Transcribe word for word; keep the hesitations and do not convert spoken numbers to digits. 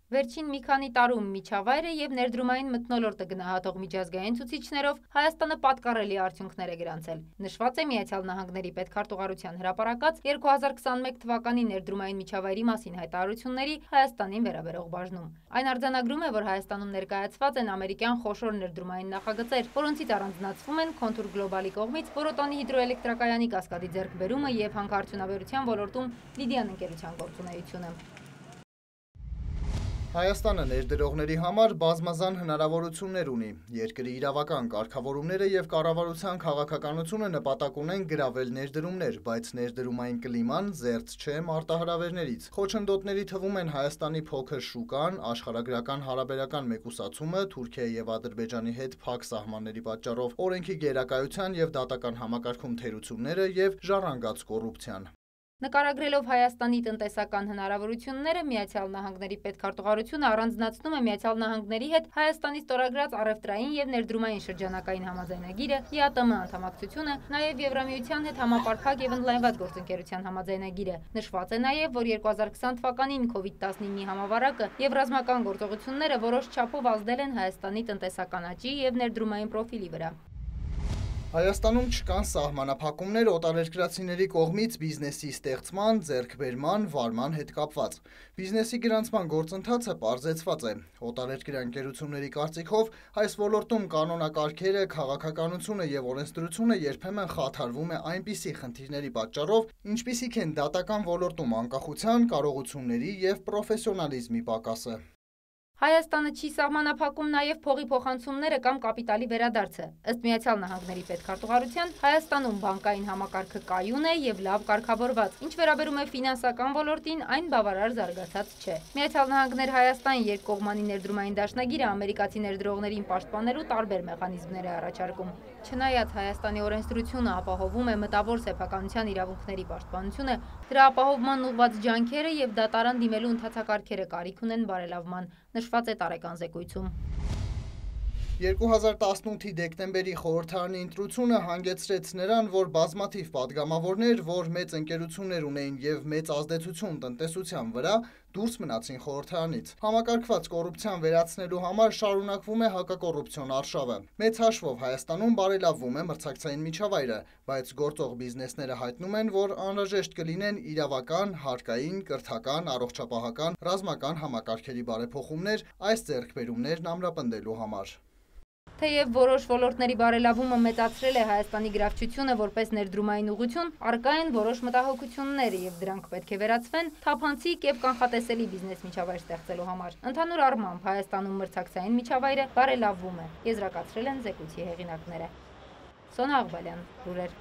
Վերջին մի քանի տարում միջավայրը եւ ներդրումային մթնոլորտը գնահատող միջազգային ցուցիչներով Հայաստանը պատկառելի արդյունքներ է գրանցել։ Նշված է Միացյալ Նահանգների պետքարտուղարության հրապարակած երկու հազար քսաներկու թվականի ներդրումային միջավայրի մասին հայտարարությունների Հայաստանին վերաբերող բաժնում։ Այն արձանագրում է, որ Հայաստանում ներկայացված են ամերիկյան խոշոր ներդրումային նախագծեր, որոնցից առանձնացվում են Contour Global-ի կողմից Որոտանի հիդրոէլեկտրակայանի կասկադի ձեռքբերումը եւ հանքարդյունաբերության ոլորտում Լիդիան ընկերության գործունեությունը։ Հայաստանը ներդրողների համար բազմազան հնարավորություններ ունի։ Երկրի իրավական կարգավորումները եւ կառավարության քաղաքականությունը նպատակ ունեն գրավել ներդրումներ, բայց ներդրումային կլիման զերծ չէ մարտահրավերներից։ Խոչընդոտների թվում են Հայաստանի փոքր շուկան, աշխարհագրական հարաբերական մեկուսացումը, Թուրքիայի եւ Ադրբեջանի հետ փակ սահմանների պատճառով օրենքի գերակայության եւ դատական համակարգում թերությունները եւ ժառանգած կոռուպցիան։ Նկարագրելով Հայաստանի տնտեսական հնարավորությունները, Միացյալ Նահանգների պետքարտուղարությունը առանձնացնում է Միացյալ Նահանգների հետ Հայաստանի ստորագրած առևտրային եւ ներդրումային շրջանակային համաձայնագիրը, ԵԱՏՄ անդամակցությունը, նաեւ Եվրամիության հետ համապարփակ եւ ընդլայնված գործընկերության համաձայնագիրը։ Նշված է նաեւ, որ երկու հազար քսան թվականին կովիդ տասնինի համավարակը եւ ռազմական գործողությունները որոշ չափով ազդել են Հայաստանի տնտեսական աճի եւ ներդրումային պրոֆիլի վրա։ Հայաստանում չկան սահմանափակումներ օտարերկրացիների կողմից բիզնեսի ստեղծման, ձեռքբերման, վարման հետ կապված։ Բիզնեսի գրանցման գործընթացը պարզեցված է։ Օտարերկրյա ընկերությունների կարծիքով այս ոլորտում կանոնակարգերը, քաղաքականությունը եւ օրենսդրությունը երբեմն խաթարվում է այնպիսի խնդիրների պատճառով, ինչպիսիք են դատական ոլորտում անկախության, կարողությունների եւ պրոֆեսիոնալիզմի պակասը։ Հայաստանը չի սահմանափակում նաև փողի փոխանցումները կամ կապիտալի վերադարձը։ Ըստ Միացյալ Նահանգների պետքարտուղարության, Հայաստանում բանկային համակարգը կայուն է եւ լավ կարգավորված, ինչ վերաբերում է ֆինանսական ոլորտին, այն բավարար զարգացած չէ։ Միացյալ Նահանգներ Հայաստան երկկողմանի ներդրումային դաշնագիրը ամերիկացի ներդրողներին պաշտպանելու տարբեր մեխանիզմներ է առաջարկում։ Չնայած Հայաստանի օրենսդրությունը ապահովում է մտավոր սեփականության իրավունքների պաշտպանությունը, դրա ապահովման ուղղված ջանքերը եւ դատարան դիմելու ընթացակարգերը կարիք ունեն բարելավման, նշված է տարեկան զեկույցում։ երկու հազար տասնութի դեկտեմբերի խորհրդարանի ընտրությունը հանգեցրեց նրան, որ բազմաթիվ падգամավորներ, որ մեծ ընկերություններ ունեին եւ մեծ ազդեցություն տնտեսության վրա, դուրս մնացին խորհրդարանից։ Համակարգված կոռուպցիան վերացնելու համար շարունակվում է հակակոռուպցիոն արշավը։ Մեծ հաշվով Հայաստանում բարելավվում է մրցակցային միջավայրը, բայց գործող բիզնեսները հայտնում են, որ անհրաժեշտ կլինեն իրավական, հարկային, կրթական, առողջապահական, ռազմական համակարգերի բարեփոխումներ այս ձեռքբերումներն ամրապնդելու համար։ Թեև որոշ ոլորտների բարելավումը մեծացրել է Հայաստանի գրավչությունը որպես ներդրումային ուղղություն, առկա են որոշ մտահոգություններ եւ դրանք պետք է վերացվեն թափանցիկ եւ կանխատեսելի բիզնես միջավայր ստեղծելու համար։ Ընդհանուր առմամբ Հայաստանում մրցակցային միջավայրը բարելավվում է, եզրակացրել են զեկույցի հեղինակները։ Սոնա Աղբալյան, լուրեր։